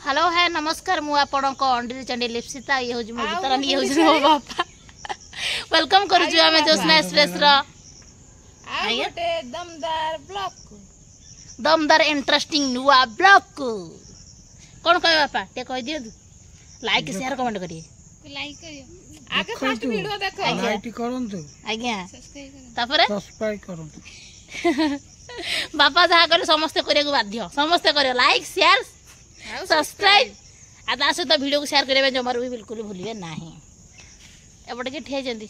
Hello hi ନମସ୍କାର, ମୁଁ ଆପଣଙ୍କ ଅଣ୍ଡିରି ଚଣ୍ଡୀ ଲିପ୍ସିତା। ଇଏ ହେଉଛି ମୋ ଗୀତାରାନୀ, ଇଏ ହେଉଛି ମୋ ବାପା। Welcome କରୁଛୁ ଆମେ ଜ୍ୟୋତ୍ସ୍ନା ଏକ୍ସପ୍ରେସର ଗୋଟେ ଦମଦାର ବ୍ଲଗ, ଦମଦାର ଇଣ୍ଟରେଷ୍ଟିଂ ନୂଆ ବ୍ଲଗକୁ। କ'ଣ କହିବେ ବାପା, ଟିକେ କହିଦିଅନ୍ତୁ। ଲାଇକ୍ ସେୟାର କମେଣ୍ଟ କରିବେ। ଲାଇକ୍ କରିବ ଆଗେ, ଫାର୍ଷ୍ଟ ଭିଡିଓ ଦେଖ, ଲାଇକ୍ କରନ୍ତୁ ଆଜ୍ଞା, ତାପରେ ସବସ୍କ୍ରାଇବ କରନ୍ତୁ। ବାପା ଯାହା କଲେ ସମସ୍ତେ କରିବାକୁ ବାଧ୍ୟ, ସମସ୍ତେ କରିବ ଲାଇକ୍ ସେୟାର ସବସ୍କ୍ରାଇବ, ଆଉ ତା ସହିତ ଭିଡ଼ିଓକୁ ସେୟାର କରିବା ପାଇଁ ଜମାରୁ ବି ବିଲକୁଲ ଭୁଲିବେ ନାହିଁ। ଏପଟେ କିଏ ଠିଆ ହେଇଛନ୍ତି?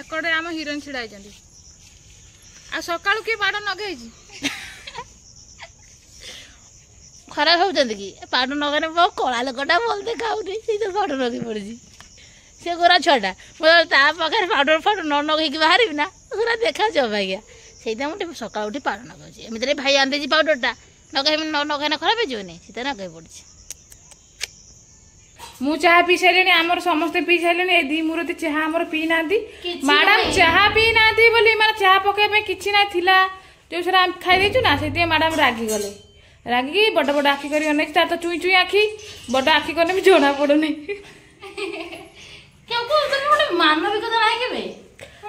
ଏପଟେ ଆମ ହିରୋଇନ ଛିଡ଼ା ହେଇଛନ୍ତି। ଆଉ ସକାଳୁ କିଏ ପାଡ଼ ନଗେଇଛି? ଖରାପ ହେଉଛନ୍ତି କି? ପାଉଡ଼ର ନଗେଇଲେ ମୋ କଳା ଲୋକଟା ଭଲ ଦେଖାଉନି, ସେଇ ତ ପାଉଡ଼ର ଲଗେଇ ପଡ଼ିଛି। ସେ ଗୋରା ଛୁଆଟା, ମୁଁ ତା ପାଖରେ ପାଉଡ଼ର ଫାଉଡ଼ର ନ ଲଗେଇକି ବାହାରିବି ନା ପୁରା ଦେଖାଯାଉଛି ଅବାଗିଆ। ସେଇଥିପାଇଁ ମୁଁ ଟିକେ ସକାଳୁ ଉଠି ପାଉଡ଼ର ଲଗାଉଛି। ଏମିତିରେ ଭାଇ ଆଣିଦେଇଛି ପାଉଡ଼ରଟା, ନଗେଇବି ନ ଲଗେଇଲେ ଖରାପ ହେଇଯିବନି, ସେଥିପାଇଁ ଲଗେଇ ପଡ଼ିଛି। ମୁଁ ଚାହା ପିଇ ସାରିଲିଣି, ଆମର ସମସ୍ତେ ପିଇ ସାରିଲେଣି। ଏ ଦି ମୁରତି ଚାହା ଆମର ପିଇ ନାହାନ୍ତି। ମ୍ୟାଡାମ ଚାହା ପିଇ ନାହାନ୍ତି ବୋଲି, ମାନେ ଚାହା ପକେଇବା ପାଇଁ କିଛି ନାହିଁ ଥିଲା, ଯୋଉ ସେଟା ଆମେ ଖାଇ ଦେଇଛୁ ନା, ସେଥିପାଇଁ ମ୍ୟାଡାମ ରାଗିଗଲେ। ରାଗିକି ବଡ ବଡ ଆଖି କରି ଅନେଇଛି। ତାର ତ ଚୁଇଁ ଚୁଇଁ ଆଖି, ବଡ ଆଖି କଲେ ବି ଜଣା ପଡୁନି। ମାନବିକତା ନାହିଁ କେବେ।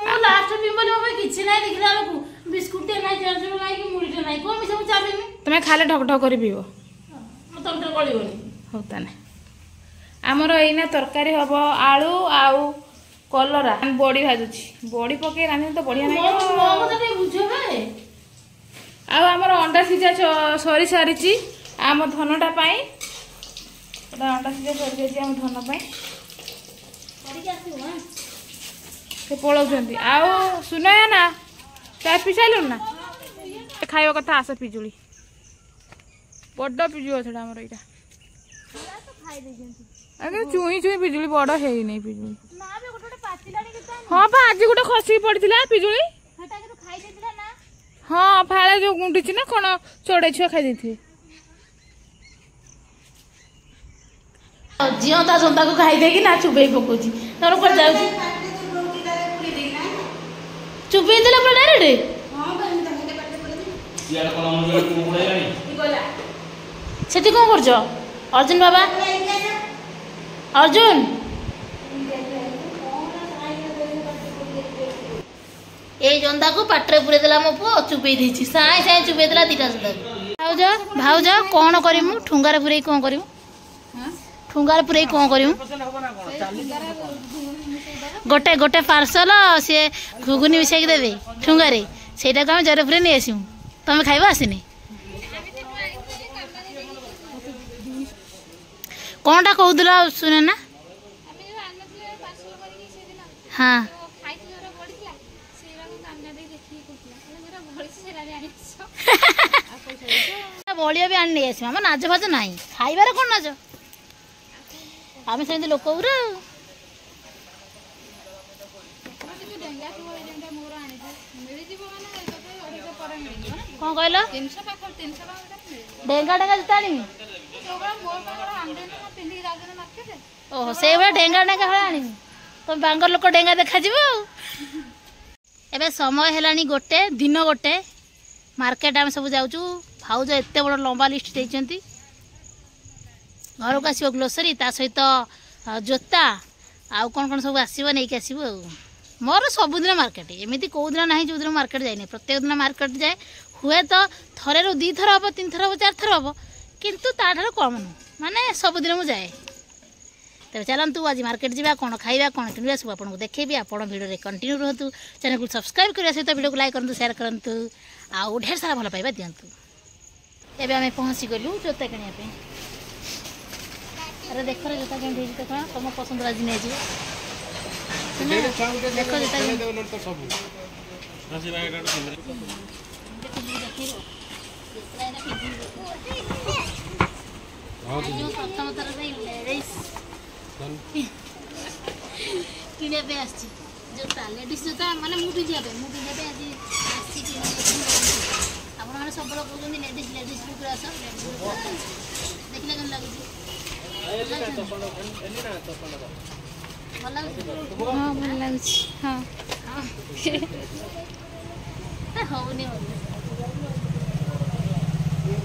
ମୁଁ ଲାଷ୍ଟ ପିଇବି ବୋଲି ମୋ ପାଇଁ କିଛି ନାହିଁ, ଦେଖିଲା ବେଳକୁ ବିସ୍କୁଟଟେ ନାହିଁ, ଚାଉଳ ନାହିଁ କି ମୁଢ଼ିଟେ ନାହିଁ। କଣ ମିଶା ମୁଁ ଚା ପିଇବି? ତମେ ଖାଲି ଢକ ଢକ କରି ପିଇବ, ମୋ ତଣ୍ଟିରେ ଗଳିବନି। ହଉ ତାହେଲେ ଆମର ଏଇନା ତରକାରୀ ହବ, ଆଳୁ ଆଉ କଲରା ବଡି ଭାଜୁଛି। ବଡି ପକେଇ ରାନ୍ଧିଲେ ତ ବଢିଆ ଲାଗିବ। ଆଉ ଆମର ଅଣ୍ଡା ସିଝା ସରି ସାରିଛି ଆମ ଧନଟା ପାଇଁ। ଅଣ୍ଡା ସିଝା ସରିଯାଇଛି ଆମ ଧନ ପାଇଁ। ସେ ପଳଉଛନ୍ତି। ଆଉ ସୁନୟା ନା ଚା ପିଇ ସାରିଲୁଣି ନା ଖାଇବା କଥା? ଆସ, ପିଜୁଳି, ବଡ ପିଜୁଳି ଗଛଟା ଆମର ଏଇଟା। ଆଜ୍ଞା, ଚୁଇଁ ଚୁଇଁ ପିଜୁଳି, ବଡ ହେଇନି ପିଜୁଳି। ହଁ ପା, ଆଜି ଗୋଟେ ଖସିକି ପଡିଥିଲା ପିଜୁଳି। ହଁ, ଫାଳେ ଯୋଉ ଗୁଣ୍ଡିଛି ନା କଣ, ଚଢେଇ ଛୁଆ ଖାଇ ଦେଇଥିବେ। ଜିଅନ୍ତା ଜନ୍ତାକୁ ଖାଇଦେଇକି ନା ଚୁବେଇ ପକଉଛି। ତମର କୁଆଡେ ଯାଉଛି? ଚୁବେଇ ଦେଲା ପୁରା ଡାଇରେକ୍ଟ। ସେଠି କଣ କରୁଛ ଅର୍ଜୁନ ବାବା? ଅର୍ଜୁନ ଏଇ ଜନ୍ଦାକୁ ପାଟିରେ ପୁରେଇ ଦେଲା ମୋ ପୁଅ, ଚୁବେଇ ଦେଇଛି, ସାଇଁ ସାଇଁ ଚୁବେଇ ଦେଲା ଦିଟା ଜନ୍ଦାକୁ। ଭାଉଜ, ଭାଉଜ, କଣ କରିମୁ ଠୁଙ୍ଗାରେ ପୁରେଇ? କଣ କରିମୁ ଠୁଙ୍ଗାରେ ପୁରେଇ? କଣ କରିମୁ? ଗୋଟେ ଗୋଟେ ପାର୍ସଲ ସିଏ ଘୁଗୁନି ମିଶେଇକି ଦେବେ ଠୁଙ୍ଗାରେ, ସେଇଟାକୁ ଆମେ ଜରେ ପୁରେଇ ନେଇ ଆସିବୁ। ତମେ ଖାଇବ ଆସିନି? କଣଟା କହୁଥିଲ ଶୁଣେ ନା? ହଁ, ବଳିଆ ବି ଆଣି ନେଇ ଆସିବ। ଆମ ନାଜ ଫାଜ ନାହିଁ, ଖାଇବାରେ କଣ ନାଜ? ଆମେ ସେମିତି ଲୋକ ଗୁରା। ଆଉ କଣ କହିଲ? ଡେଙ୍ଗା ଡେଙ୍ଗା ଜୁତା ଆଣିବି? ଓହୋ, ସେଇଭଳିଆ ଡେଙ୍ଗା ଡେଙ୍ଗା ଭଳିଆ ଆଣିବି। ତମେ ବାଙ୍ଗର ଲୋକ ଡେଙ୍ଗା ଦେଖାଯିବ। ଆଉ ଏବେ ସମୟ ହେଲାଣି ଗୋଟେ, ଦିନ ଗୋଟେ। ମାର୍କେଟ ଆମେ ସବୁ ଯାଉଛୁ। ଭାଉଜ ଏତେ ବଡ଼ ଲମ୍ବା ଲିଷ୍ଟ ଦେଇଛନ୍ତି। ଘରକୁ ଆସିବ ଗ୍ଲୋସରୀ, ତା ସହିତ ଜୋତା, ଆଉ କ'ଣ କ'ଣ ସବୁ ଆସିବ ନେଇକି ଆସିବୁ। ଆଉ ମୋର ସବୁଦିନ ମାର୍କେଟ, ଏମିତି କେଉଁ ଦିନ ନାହିଁ ଯେଉଁଦିନ ମାର୍କେଟ ଯାଇନି। ପ୍ରତ୍ୟେକ ଦିନ ମାର୍କେଟ ଯାଏ। ହୁଏତ ଥରେରୁ 2 ଥର ହେବ, 3 ଥର ହେବ, 4 ଥର ହେବ, କିନ୍ତୁ ତାଠାରୁ କମ୍ ନୁହଁ, ମାନେ ସବୁଦିନ ମୁଁ ଯାଏ। ତେବେ ଚାଲନ୍ତୁ ଆଜି ମାର୍କେଟ ଯିବା, କ'ଣ ଖାଇବା, କ'ଣ କିଣିବା ସବୁ ଆପଣଙ୍କୁ ଦେଖେଇବି। ଆପଣ ଭିଡ଼ିଓରେ କଣ୍ଟିନ୍ୟୁ ରୁହନ୍ତୁ। ଚ୍ୟାନେଲକୁ ସବସ୍କ୍ରାଇବ୍ କରିବା ସହିତ ଭିଡ଼ିଓକୁ ଲାଇକ୍ କରନ୍ତୁ, ସେୟାର କରନ୍ତୁ, ଆଉ ଢେର ସାରା ଭଲ ପାଇବା ଦିଅନ୍ତୁ। ଏବେ ଆମେ ପହଞ୍ଚିଗଲୁ ଜୋତା କିଣିବା ପାଇଁ। ଆରେ ଦେଖ ଜୋତା କେମିତି ହେଇଛି ଦେଖ, ତମ ପସନ୍ଦର ଆଜି ନେଇଯିବ। ଦେଖ ଜୋତା। ପ୍ରଥମ ଥର ପାଇଁ ଲେଡ଼ିସ୍ କିଣିବା ପାଇଁ ଆସିଛି ଜୋତା, ଲେଡ଼ିସ୍ ଜୋତା, ମାନେ ମୁଁ ପିନ୍ଧିବା ପାଇଁ ଆଜି ଆସିଛି କିଣିବା ପାଇଁ। ଆପଣମାନେ ସବୁବେଳେ କହୁଛନ୍ତି ଲେଡ଼ିସ୍ ଲେଡ଼ିସ୍ ଲୁକ୍ରେ ଆସ, ଲେଡ଼ିସ୍। ଦେଖିଲେ କେମିତି ଲାଗୁଛି? ଭଲ ଲାଗୁଛି? ହଁ, ଭଲ ଲାଗୁଛି। ହଁ, ହଉନି।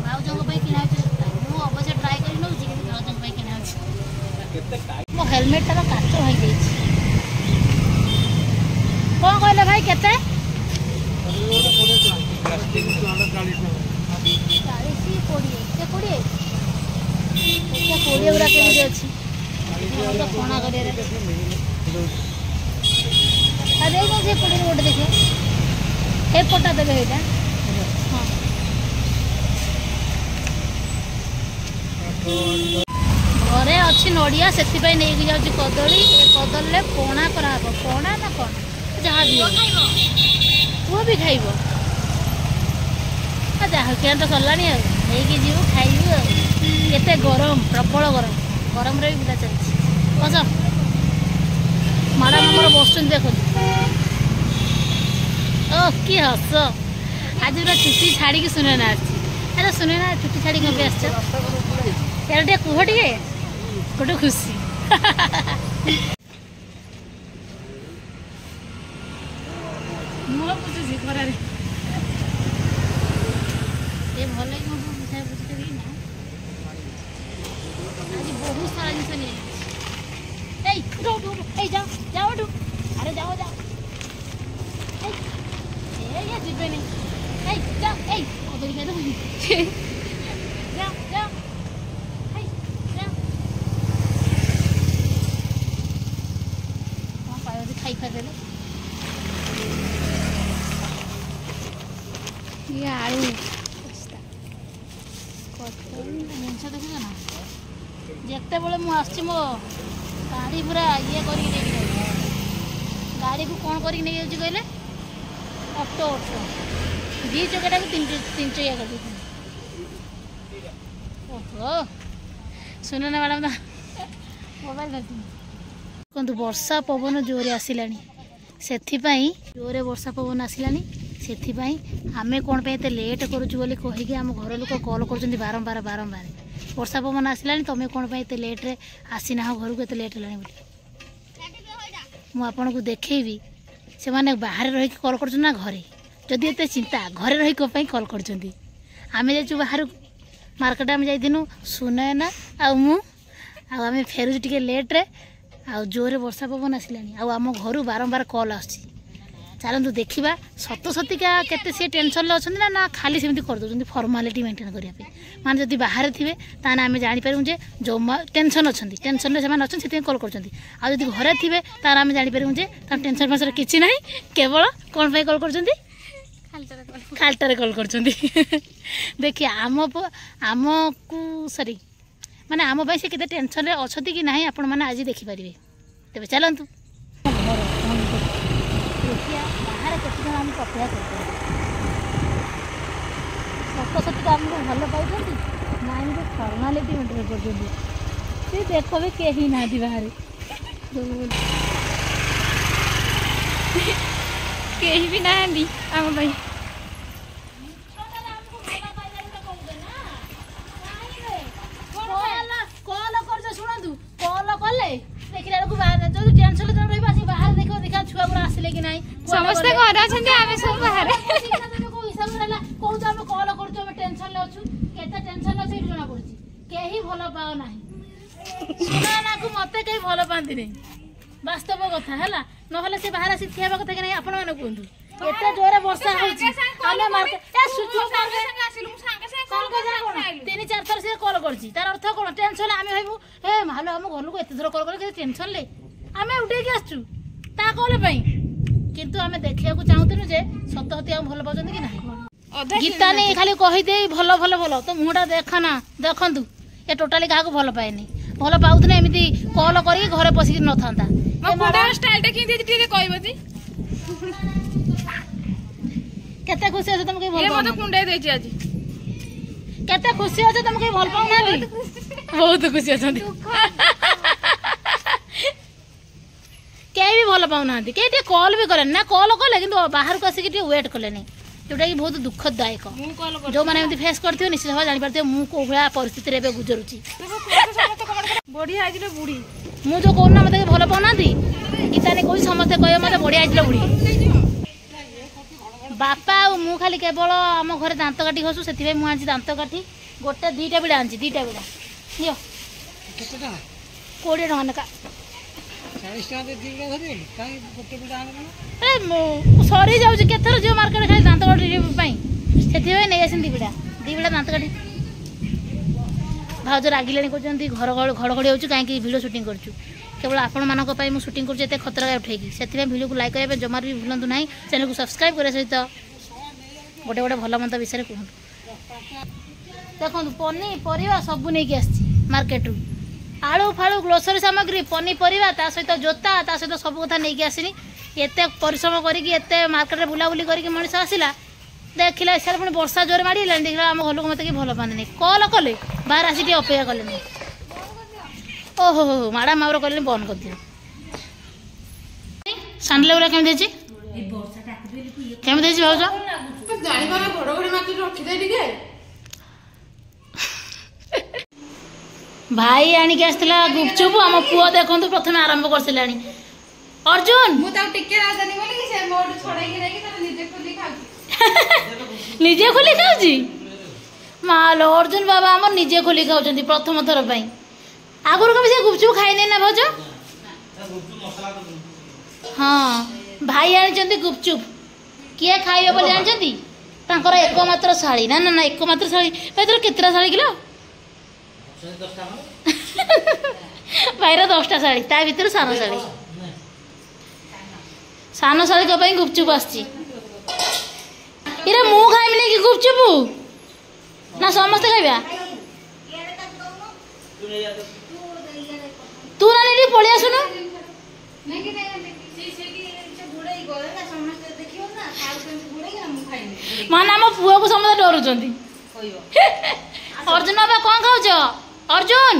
ଭାଉଜଙ୍କ ପାଇଁ କିଣା ହେଇଛି ଜୋତା। ହେଲମେଟ୍ଟାର କାଚ ଭାଙ୍ଗିଯାଇଛି। କ'ଣ କହିଲେ ଭାଇ କେତେ? 40 20 ସେ 20 20 ଗୁଡ଼ା କେମିତି ଅଛି କଣା କରିବାରେ। ଆଉ ଦେଇଦେଇ ସେ 20 ଗୋଟେ ଦେଖିବା, ଏ ପଟା ଦେବେ ଏଇଟା। ହଁ, ଘରେ ଅଛି ନଡ଼ିଆ, ସେଥିପାଇଁ ନେଇକି ଯାଉଛି କଦଳୀ। ଏ କଦଳୀରେ ପଣା କରାହବ, ପଣା ନା କ'ଣ ଯାହା ବି ପୁଅ ବି ଖାଇବ। ଯାହା କିଣା ତ ସରିଲାଣି, ଆଉ ନେଇକି ଯିବୁ ଖାଇବୁ। ଆଉ କେତେ ଗରମ, ପ୍ରବଳ ଗରମ, ଗରମରେ ବି ବୁଲା ଚାଲିଛି। ବସ ମ୍ୟାଡ଼ାମ୍ ଆମର ବସୁଛନ୍ତି ଦେଖନ୍ତୁ। ଓ କି ହସ, ଆଜି ପୁରା ଚୁଟି ଛାଡ଼ିକି ସୁନେନା ଆସିଛି। ଆରେ ସୁନେନା, ଚୁଟି ଛାଡ଼ିକି କଣ ପାଇଁ ଆସିଛ? ଏଇଟା ଟିକେ କୁହ, ଟିକେ ଗୋଟେ ଖୁସି। ମୁହଁ ପୁଛୁଛି ଖରାରେ। ଏ ଭଲ କି ମୁଁ ବୁଝା ବୁଝି କରିକି ନା ଆଜି ବହୁତ ସାରା ଜିନିଷ ନେଇଯାଇଛି। ଏଇ ଉଠ ଉଠ ଉଠ, ଏଇ ଯାଅ ଯାଅ ଏଠୁ, ଆରେ ଯାଅ ଯାଅ, ଏଇ ଏ ଯିବେନି, ଏଇ ଯାଅ, ଏଇ କଦଳୀ ଖାଇଦେବ, ଯାଅ ଯାଅ, ଏଇ ଯାଅ। କ'ଣ ପାଇବ ଖାଇ ଖାଇଦେଲେ। ଇଏ ଆଳୁ କଦଳୀ ଜିନିଷ ଦେଖୁଛ ନା? ଯେତେବେଳେ ମୁଁ ଆସୁଛି ମୋ ଗାଡ଼ି ପୁରା ଇଏ କରିକି ନେଇକି ଯାଉଛି। ଗାଡ଼ିକୁ କ'ଣ କରିକି ନେଇଯାଉଛି କହିଲେ? ଅଟୋ, ଅଟୋ 2 ଚକିଆଟାକୁ 3 ଚକିଆ କରିଦେଇଛନ୍ତି। ଓହୋ, ଶୁଣ ନା ମ୍ୟାଡ଼ାମ୍ ତ ମୋବାଇଲ ଧରିଛନ୍ତି। ଦେଖନ୍ତୁ ବର୍ଷା ପବନ ଜୋରେ ଆସିଲାଣି, ସେଥିପାଇଁ ଜୋରେ ବର୍ଷା ପବନ ଆସିଲାଣି, ସେଥିପାଇଁ ଆମେ କ'ଣ ପାଇଁ ଏତେ ଲେଟ୍ କରୁଛୁ ବୋଲି କହିକି ଆମ ଘର ଲୋକ କଲ୍ କରୁଛନ୍ତି ବାରମ୍ବାର ବାରମ୍ବାର। ବର୍ଷା ପବନ ଆସିଲାଣି, ତୁମେ କ'ଣ ପାଇଁ ଏତେ ଲେଟ୍ରେ ଆସିନାହ ଘରକୁ, ଏତେ ଲେଟ୍ ହେଲାଣି ବୋଲି। ମୁଁ ଆପଣଙ୍କୁ ଦେଖେଇବି ସେମାନେ ବାହାରେ ରହିକି କଲ୍ କରୁଛନ୍ତି ନା ଘରେ। ଯଦି ଏତେ ଚିନ୍ତା, ଘରେ ରହି କ'ଣ ପାଇଁ କଲ୍ କରୁଛନ୍ତି? ଆମେ ଯାଇଛୁ ବାହାରକୁ ମାର୍କେଟ, ଆମେ ଯାଇଥିନୁ ସୁନୟନା ଆଉ ମୁଁ, ଆଉ ଆମେ ଫେରୁଛୁ ଟିକେ ଲେଟ୍ରେ, ଆଉ ଜୋରରେ ବର୍ଷା ପବନ ଆସିଲାଣି, ଆଉ ଆମ ଘରୁ ବାରମ୍ବାର କଲ୍ ଆସୁଛି। ଚାଲନ୍ତୁ ଦେଖିବା ସତ ସତିକା କେତେ ସିଏ ଟେନସନ୍ରେ ଅଛନ୍ତି ନା ନା ଖାଲି ସେମିତି କରିଦେଉଛନ୍ତି ଫର୍ମାଲିଟି ମେଣ୍ଟେନ୍ କରିବା ପାଇଁ। ମାନେ ଯଦି ବାହାରେ ଥିବେ ତାହେଲେ ଆମେ ଜାଣିପାରିବୁ ଯେ ଜମା ଟେନସନ୍ ଅଛନ୍ତି, ଟେନସନ୍ରେ ସେମାନେ ଅଛନ୍ତି, ସେଥିପାଇଁ କଲ୍ କରୁଛନ୍ତି। ଆଉ ଯଦି ଘରେ ଥିବେ ତାହେଲେ ଆମେ ଜାଣିପାରିବୁ ଯେ ତାଙ୍କ ଟେନସନ୍ ଫେନସନ୍ କିଛି ନାହିଁ, କେବଳ କ'ଣ ପାଇଁ କଲ୍ କରୁଛନ୍ତି? ଖାଲିଟାରେ କଲ୍ କରୁଛନ୍ତି। ଦେଖିବା ଆମକୁ ସରି ମାନେ ଆମ ପାଇଁ ସେ କେତେ ଟେନସନ୍ରେ ଅଛନ୍ତି କି ନାହିଁ ଆପଣମାନେ ଆଜି ଦେଖିପାରିବେ। ତେବେ ଚାଲନ୍ତୁ ଘର ଦେଖିବା ବାହାରେ କେତେ ଜଣ ଆମକୁ ଅପେକ୍ଷା କରୁଛନ୍ତି, ସତ ସତିକା ଆମକୁ ଭଲ ପାଉଛନ୍ତି ନା ଏମିତି ଫର୍ମାଲିଟି ମେଣ୍ଟେନ୍ କରୁଛନ୍ତି। ସେ ଦେଖ ବି କେହି ନାହାନ୍ତି ବାହାରେ, କେହି ବି ନାହାନ୍ତି ଆମ ପାଇଁ। କଲ୍ କରୁଛ ଶୁଣନ୍ତୁ, କଲ୍ କଲେ ଦେଖିଲା ବେଳକୁ ବାହାରେ ଯଦି ଟେନସନ୍ ଜଣେ ରହିବ ଆସିକି ବାହାରେ ଦେଖିବ, ଦେଖିବା ଛୁଆ ଗୁଡ଼ା ଆସିଲେ କି ନାହିଁ। ସମସ୍ତେ ଘରେ ଅଛନ୍ତି, ଆମେ ସବୁ ବାହାରେ। କୋଉ ହିସାବରେ ହେଲା କହୁଛ ଆମେ କଲ୍ କରୁଛୁ, ଆମେ ଟେନସନ୍ରେ ଅଛୁ? କେତେ ଟେନସନ୍ ଅଛୁ ଏଇଠି ଜଣା ପଡୁଛି। କେହି ଭଲ ପାଅ ନାହିଁ ସୁନାନାକୁ, ମତେ କେହି ଭଲ ପାଆନ୍ତିନି, ବାସ୍ତବ କଥା ହେଲା। ନହେଲେ ସେ ବାହାରେ ଆସି ଠିଆ ହେବା କଥା କି ନାହିଁ ଆପଣମାନେ କୁହନ୍ତୁ? ଏତେ ଜୋରେ ବର୍ଷା ହଉଛି, ଆମେ ମାର୍କେଟ 3 4 ଥର ସେ କଲ୍ କରିଛି, ତାର ଅର୍ଥ କ'ଣ? ଟେନସନ୍। ଆମେ ଭାବିବୁ ହେ ମାଲୋ ଆମ ଘରକୁ ଏତେ ଥର କଲ୍ କଲେ, କେତେ ଟେନସନ୍ରେ ଆମେ ଉଠେଇକି ଆସିଛୁ ତା କଲ୍ ପାଇଁ। କିନ୍ତୁ ଆମେ ଦେଖିବାକୁ ଚାହୁଁଥିଲୁ ଯେ ସତ ସତି ଆମକୁ ଭଲ ପାଉଛନ୍ତି କି ନାହିଁ। ଗୀତା ନେଇ ଖାଲି କହିଦେଇ ଭଲ ଭଲ ଭଲ, ତ ମୁହଁଟା ଦେଖ ନା, ଦେଖନ୍ତୁ ଏ ଟୋଟାଲି କାହାକୁ ଭଲ ପାଏନି। ଭଲ ପାଉଥିଲେ ଏମିତି କଲ୍ କରିକି ଘରେ ପଶିକି ନଥାନ୍ତା। କେତେ ଖୁସି ଅଛ ତମେ? କେହି ଭଲ କୁଣ୍ଡେଇ ଦେଇଛି ଆଜି। କେତେ ଖୁସି ଅଛ ତମେ? କେହି ଭଲ ପାଉନାହାନ୍ତି, ବହୁତ ଖୁସି ଅଛନ୍ତି। କେହି ବି ଭଲ ପାଉନାହାନ୍ତି, କେହି ଟିକେ କଲ୍ ବି କଲେନି ନା। କଲ୍ କଲେ କିନ୍ତୁ ବାହାରକୁ ଆସିକି ଟିକେ ୱେଟ୍ କଲେନି, ଯୋଉଟାକି ବହୁତ ଦୁଃଖଦାୟକ। ଯୋଉମାନେ ଏମିତି ଫେସ୍ କରିଥିବେ ନିଶ୍ଚିତ ଭାବେ ଜାଣିପାରୁଥିବେ ମୁଁ କୋଉ ଭଳିଆ ପରିସ୍ଥିତିରେ ଏବେ ଗୁଜରୁଛି। ବଢିଆ ହେଇଥିଲେ ବୁଢୀ। ମୁଁ ଯୋଉ କହୁନା ମତେ ଭଲ ପାଉନାହାନ୍ତି, ଗୀତାନୀ କହୁଛି ସମସ୍ତେ କହିବେ ମତେ ବଢିଆ ହେଇଥିଲେ ବୁଢୀ। ବାପା ଆଉ ମୁଁ ଖାଲି କେବଳ ଆମ ଘରେ ଦାନ୍ତ କାଠି ଘଷୁ, ସେଥିପାଇଁ ମୁଁ ଆଣିଛି ଦାନ୍ତ କାଠି ଗୋଟେ 2ଟା ବିଡ଼ା ଆଣିଛି, 2ଟା ବିଡ଼ା ନିଅ 20 ଟଙ୍କା ଲେଖା। ଏ ସରିଯାଉଛି, କେତେଥର ଯିବ ମାର୍କେଟ ଖାଲି ଦାନ୍ତ କାଠି ପାଇଁ। ସେଥିପାଇଁ ନେଇ ଆସିନି 2 ବିଡ଼ା, 2 ବିଡ଼ା ଦାନ୍ତ କାଠି। ଭାଉଜ ରାଗିଲେଣି, କହୁଛନ୍ତି ଘର ଘଡ଼ଘଡ଼ି ହେଉଛି, କାହିଁକି ଭିଡ଼ିଓ ସୁଟିଂ କରୁଛୁ? କେବଳ ଆପଣମାନଙ୍କ ପାଇଁ ମୁଁ ସୁଟିଂ କରୁଛି ଏତେ ଖତରା ଉଠେଇକି। ସେଥିପାଇଁ ଭିଡ଼ିଓକୁ ଲାଇକ୍ କରିବା ପାଇଁ ଜମାରୁ ବି ଭୁଲନ୍ତୁ ନାହିଁ। ଚ୍ୟାନେଲକୁ ସବସ୍କ୍ରାଇବ୍ କରିବା ସହିତ ଗୋଟେ ଗୋଟେ ଭଲ ମନ୍ଦ ବିଷୟରେ କୁହନ୍ତୁ। ଦେଖନ୍ତୁ, ପନିପରିବା ସବୁ ନେଇକି ଆସିଛି ମାର୍କେଟରୁ, ଆଳୁ ଫାଳୁ, ଗ୍ରୋସରୀ ସାମଗ୍ରୀ, ପନିପରିବା, ତା ସହିତ ଜୋତା, ତା ସହିତ ସବୁ କଥା ନେଇକି ଆସିନି। ଏତେ ପରିଶ୍ରମ କରିକି, ଏତେ ମାର୍କେଟରେ ବୁଲାବୁଲି କରିକି ମଣିଷ ଆସିଲା, ଦେଖିଲା ସିଆଡ଼େ ପୁଣି ବର୍ଷା ଜୋରେ ମାଡ଼ି ହେଲାଣି। ଦେଖିଲା ଆମ ଘର ଲୋକ ମୋତେ କେହି ଭଲ ପାଆନ୍ତିନି। କଲ୍ କଲେ ବାହାରେ ଆସିକି ଟିକେ ଅପେକ୍ଷା କଲେନି। ଓହୋ ହୋ, ମ୍ୟାଡ଼ାମ୍ ଆମର କହିଲେଣି ବନ୍ଦ କରିଦିଅ। ସାଣ୍ଡେଲ ଗୁଡ଼ା କେମିତି ହେଇଛି? କେମିତି ହେଇଛି ଭାଉଜ? ଭାଇ ଆଣିକି ଆସିଥିଲା ଗୁପଚୁପ। ଆମ ପୁଅ ଦେଖନ୍ତୁ ପ୍ରଥମେ ଆରମ୍ଭ କରିସାରିଲାଣି। ଅର୍ଜୁନ ମୁଁ ତାକୁ ଟିକେ ରାଜାନି ବୋଲି ସେ ମୋଠୁ ଛଡେଇକି ନେଇକି ତାର ନିଜେ ଖୋଲି ଖାଉଛି। ନିଜେ ଖୋଲି ଖାଉଛି ମାଲୋ। ଅର୍ଜୁନ ବାବା ଆମର ନିଜେ ଖୋଲି ଖାଉଛନ୍ତି ପ୍ରଥମ ଥର ପାଇଁ। ଆଗରୁ କେବେ ସେ ଗୁପଚୁପ ଖାଇନି ନା ଭାଉଜ? ହଁ, ଭାଇ ଆଣିଛନ୍ତି ଗୁପଚୁପ। କିଏ ଖାଇବେ ବୋଲି ଜାଣିଛନ୍ତି? ତାଙ୍କର ଏକମାତ୍ର ଶାଳୀ। ନା ନା ନା, ଏକମାତ୍ର ଶାଳୀ। ଭାଇ, ତୋର କେତେଟା ଶାଳୀ କିଲୋ? ଭାଇର 10ଟା ଶାଳୀ, ତା ଭିତରୁ ସାନ ଶାଳୀ। ସାନ ଶାଳୀଙ୍କ ପାଇଁ ଗୁପଚୁପ ଆସିଛି। ଇରେ, ମୁଁ ଖାଇବିନି କି ଗୁପଚୁପ? ନା ସମସ୍ତେ ଖାଇବା? ତୁ ନାନୀ ଟିକେ ପଳେଇ ଆସୁନୁ। ମାନେ ଆମ ପୁଅକୁ ସମସ୍ତେ ଡରୁଛନ୍ତି। ଅର୍ଜୁନ ବାବା, କଣ ଖାଉଛ? ଅର୍ଜୁନ,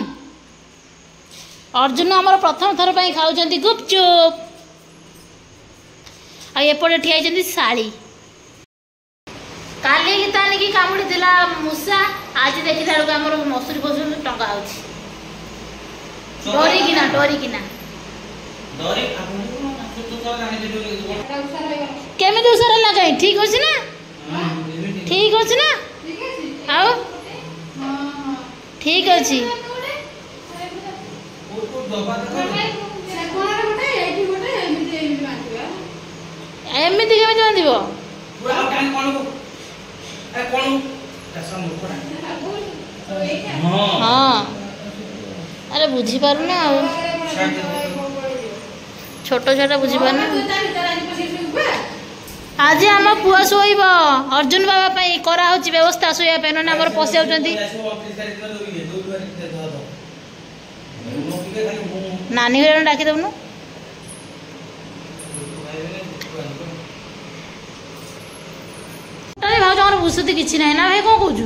ଅର୍ଜୁନ ଆମର ପ୍ରଥମ ଥର ପାଇଁ ଖାଉଛନ୍ତି ଗୁପଚୁପ। ଆଉ ଏପଟେ ଠିଆ ହେଇଛନ୍ତି ଶାଳୀ। କାଲି ଗୀତାନିକି କାମୁଡ଼ିଥିଲା ମୂଷା, ଆଜି ଦେଖିଲା ବେଳକୁ ଆମର ମସୁରୀ ଫସୁରୀ ଟଙ୍କା ହଉଛି ଡରିକିନା ଡରିକିନା। କେମିତି ଉଷାର ହେଲା? କାହିଁ, ଠିକ ଅଛି ନା? ଠିକ ଅଛି ନା? ଆଉ ଠିକ ଅଛି। ଏମିତି କେମିତି ବାନ୍ଧିବ? ହଁ, ଆରେ ବୁଝିପାରୁନା, ଆଉ ଛୋଟ ଛୁଆଟା ବୁଝିପାରୁନି। ଆଜି ଆମ ପୁଅ ଶୋଇବ। ଅର୍ଜୁନ ବାବା ପାଇଁ କରାହଉଛି ବ୍ୟବସ୍ଥା ଶୋଇବା ପାଇଁ, ନହେଲେ ଆମର ପଶି ଯାଉଛନ୍ତି। ନାନୀ ଘରେ ଡାକିଦେବୁନୁ। ଭାଉଜଙ୍କର ବୁସୁତି କିଛି ନାହିଁ ନା ଭାଇ, କଣ କହୁଛୁ?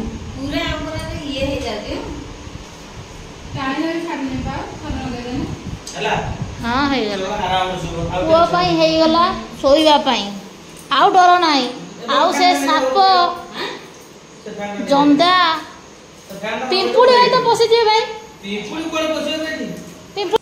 ହଁ, ହେଇଗଲା ପୁଅ ପାଇଁ, ହେଇଗଲା ଶୋଇବା ପାଇଁ, ଆଉ ଡର ନାହିଁ। ଆଉ ସେ ସାପ ଜନ୍ଦା ପିମ୍ପୁଡ଼ି ଭାଇ ତ ପଶିଯିବେ ଭାଇ। ପିମ୍ପୁଡ଼ି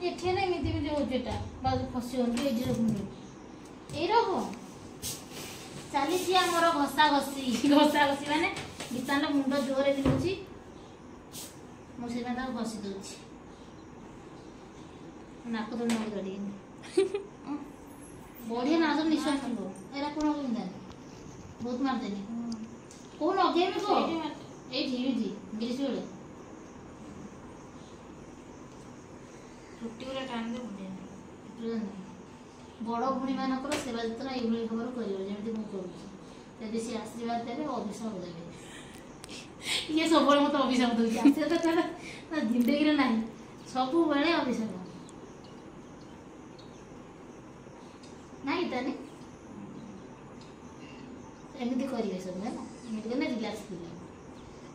ଏଠି ନା ଏମିତି ଏମିତି ହଉଛି, ଏଟା ବାଜୁ ଖସି ହଉନି। ଏଇଠି ରଖୁନି, ଏଇ ରଖ। ଚାଲିଛି ଆମର ଘଷା ଘଷି। ଘଷା ଘଷି ମାନେ ଗୀତାର ମୁଣ୍ଡ ଜୋରରେ ବିନ୍ଧୁଛି, ମୁଁ ସେଥିପାଇଁ ତାକୁ ଘଷି ଦଉଛି। ନାକ ଧରି ନଗେଇ ବଢିଆ ନା ସବୁ ନିଶ୍ୱାସ ନେବ। ଏରା କଣ ବିନ୍ଧାନି? ବହୁତ ମାରିଦେନି। କୋଉ ଲଗେଇବି କହ? ଏଇଠି ଏଇଠି ଗିରିଶ ବେଳେ ଚୁଟି ଗୁରା ଟାଣିଦେ, ବଢିଆ। ବଡ଼ ଭଉଣୀମାନଙ୍କର ସେବା ଯତ୍ନ ଏଇଭଳି ଭାବରେ କରିବ, ଯେମିତି ମୁଁ କରୁଛି। ଯଦି ସେ ଆଶୀର୍ବାଦ ଦେବେ, ଅଭିଶାପ ଦେବେ। ଇଏ ସବୁବେଳେ ମୋତେ ଅଭିଶାପ ଦେଉଛି। ଆଶୀର୍ବାଦ ତାର ଜିନ୍ଦଗିରେ ନାହିଁ, ସବୁବେଳେ ଅଭିଶାପ। ନାଇଁ ତାନେ ଏମିତି କରିବେ ସବୁ ହେଲା। ଏମିତି କଲେ ରିଲାକ୍ସ ଫିଲ୍ ହେବ।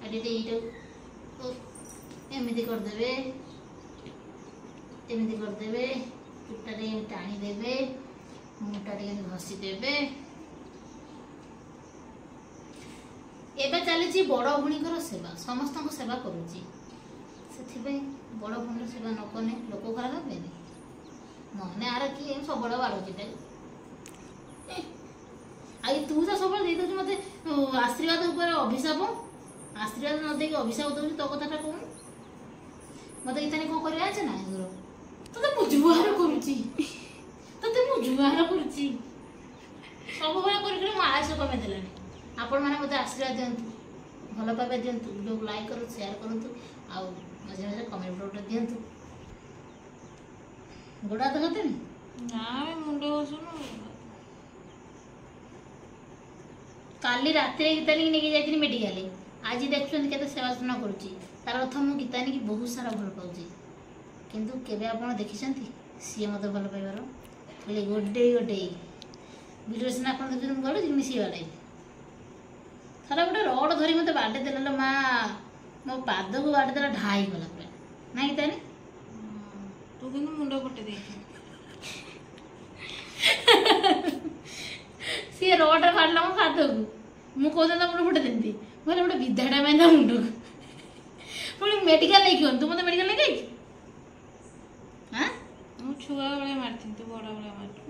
ଆଉ ଟିକେ ଏଇଟାକୁ ଏମିତି କରିଦେବେ, ଏମିତି କରିଦେବେ, ଚୁଟିଟା ଟିକେ ଟାଣିଦେବେ, ମୁଣ୍ଡଟା ଟିକେ ଘଷିଦେବେ। ଏବେ ଚାଲିଛି ବଡ଼ ଭଉଣୀଙ୍କର ସେବା। ସମସ୍ତଙ୍କ ସେବା କରୁଛି, ସେଥିପାଇଁ ବଡ଼ ଭଉଣୀର ସେବା ନ କଲେ ଲୋକ ଖରାପ ହେବେନି। ନହେଲେ ଆର କିଏ ସବୁବେଳେ ବାଡ଼ଉଛି ତାକୁ। ଆଉ ତୁ ତ ସବୁବେଳେ ଦେଇଦେଉଛୁ ମୋତେ ଆଶୀର୍ବାଦ ଉପରେ ଅଭିଶାପ। ଆଶୀର୍ବାଦ ନ ଦେଇକି ଅଭିଶାପ ଦେଉଛୁ, ତୋ କଥାଟା କହୁନୁ ମୋତେ। ଗୀତାନି କ'ଣ କରିବା ଅଛି ନା ତୋତେ ମୁଁ ଜୁହାର କରୁଛି, ତୋତେ ମୁଁ ଜୁହାର କରୁଛି। ସବୁବେଳେ କରି କରି ମୋ ଆୟୁଷ କମେଇ ଦେଲାଣି। ଆପଣମାନେ ମୋତେ ଆଶୀର୍ବାଦ ଦିଅନ୍ତୁ, ଭଲ ପାଇବା ଦିଅନ୍ତୁ, ଭିଡ଼ିଓକୁ ଲାଇକ୍ କରନ୍ତୁ, ସେୟାର କରନ୍ତୁ, ଆଉ ମଝିରେ ମଝିରେ କମେଣ୍ଟ ଗୋଟେ ଦିଅନ୍ତୁ। ଗୋଡ଼ ହାତ ଘଷିନି ନା, ମୁଣ୍ଡ ଘଷୁନୁ। କାଲି ରାତିରେ ଗୀତାନିକି ନେଇକି ଯାଇଥିଲି ମେଡ଼ିକାଲ। ଆଜି ଦେଖୁଛନ୍ତି କେତେ ସେବା ଯତ୍ନ କରୁଛି। ତାର ଅର୍ଥ ମୁଁ ଗୀତାନିକି ବହୁତ ସାରା ଭଲ ପାଉଛି। କିନ୍ତୁ କେବେ ଆପଣ ଦେଖିଛନ୍ତି ସିଏ ମୋତେ ଭଲ ପାଇବାର? ଖାଲି ଗୋଡ଼େଇ ଗୋଡ଼େଇ ଭିଡ଼ିଓ ସିନା ଆପଣ ଦେଖୁଛନ୍ତି ମୁଁ ଗଡ଼ୁଛି, କିନ୍ତୁ ସିଏ ବାଡ଼େଇ। ଥରେ ଗୋଟେ ରଡ଼ ଧରି ମୋତେ ବାଡ଼େଇ ଦେଲା ମା, ମୋ ପାଦକୁ ବାଡ଼େଇ ଦେଲା, ଢା ହେଇଗଲା ପୁରା। ନା ଗୀତାନି? ତୁ କିନ୍ତୁ ମୁଣ୍ଡ ଫଟେଇ ଦେଇଛୁ। ସିଏ ରଡ଼ରେ ବାଡ଼ିଲା ମୋ ପାଦକୁ, ମୁଁ କହୁଥିଲି ତା ମୁଣ୍ଡ ଫୁଟେଇ ଦେନ୍ତି। ମୁଁ କହିଲି ଗୋଟେ ବିଧାଟା ପାଇଁ ତା ମୁଣ୍ଡକୁ ପୁଣି ମେଡ଼ିକାଲ ନେଇକି ଗଲି। ତୁ ମୋତେ ମେଡ଼ିକାଲ ନେଇକି ଯାଇଛୁ? ମୁଁ ଛୁଆ ବେଳେ ମାରିଥିଲି, ତୁ ବଡ଼ ବେଳେ ମାରିଛୁ।